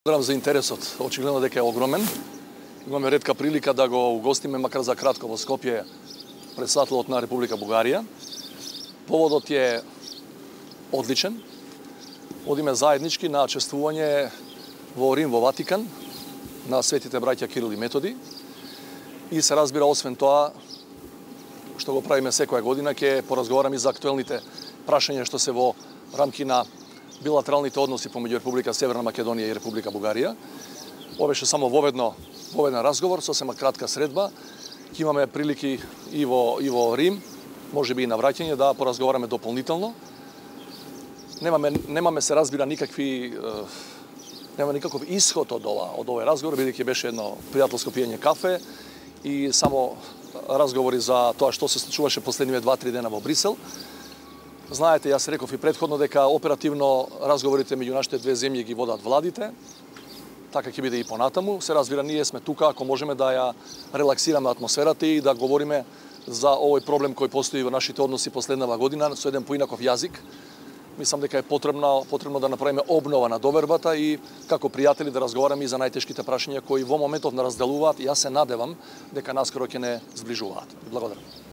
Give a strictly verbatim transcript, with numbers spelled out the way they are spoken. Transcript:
Благодарам за интересот. Очигледно дека е огромен. Имаме ретка прилика да го угостиме макар за кратко во Скопје претседателот на Република Бугарија. Поводот е одличен. Одиме заеднички на чествување во Рим, во Ватикан, на светите браќа Кирил и Методи. И се разбира, освен тоа, што го правиме секоја година, ќе поразговараме и за актуелните прашања што се во рамки на билатералните односи помеѓу Република Северна Македонија и Република Бугарија. Ова беше само воведно, воведен разговор, сосема кратка средба. Ќе имаме прилики и во, и во Рим, може би и на враќање, да поразговараме дополнително. Немаме, немаме се разбира никакви, нема никаков исход од ова, од овој разговор, бидејќи беше едно пријателско пиење кафе и само разговори за тоа што се случуваше последниве два-три дена во Брисел. Знаете, јас реков и претходно дека оперативно разговорите меѓу нашите две земји ги водат владите. Така ќе биде и понатаму. Се разбира, ние сме тука ако можеме да ја релаксираме атмосферата и да говориме за овој проблем кој постои во нашите односи последнава година со еден поинаков јазик. Мислам дека е потребно, потребно да направиме обнова на довербата и како пријатели да разговараме и за најтешките прашања кои во моментов не разделуваат и јас се надевам дека наскоро ќе не сближуваат. Благодарам.